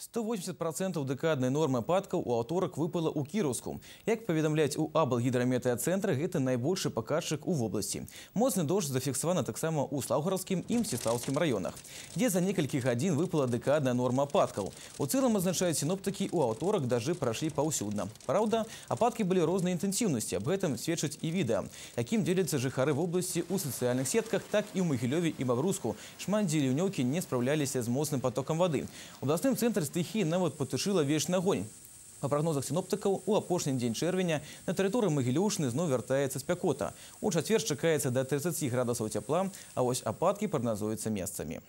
180% дэкаднай нормы ападкаў у аўторак выпала ў Кіроўску. Як паведамляюць у Аблгідраметэацэнтры, гэта найбольшы паказчык у вобласці. Моцны дождж зафіксаваны таксама ў Слаўгаровскім і Мсціслаўскім раёнах, дзе за некалькі гадзін выпала дэкадная норма ападкаў. У цэлым, азначаюць сіноптыкі, у аўторак дажджы прайшлі паўсюдна. Праўда, ападкі былі рознай інтэнсіўнасці, аб гэтым сведчыць і відэа, якім дзеляцца жыхары вобласці ў сацыяльных сетках, так і ў Магілёве і Бабруйску. Шмат дзе ліўнёўкі не спраўляліся з моцным потокам вады. У абласным цэнтры стыхіі нават патушыла вечны агонь. Па прагнозах сіноптыкаў, у апошні дзень чэрвеня на тэрыторыі Магілёўшчыны зноў вяртаецца спякота. У чацвер чакаецца да 30 градусаў цяпла, а вось ападкі прагназуюцца месцамі.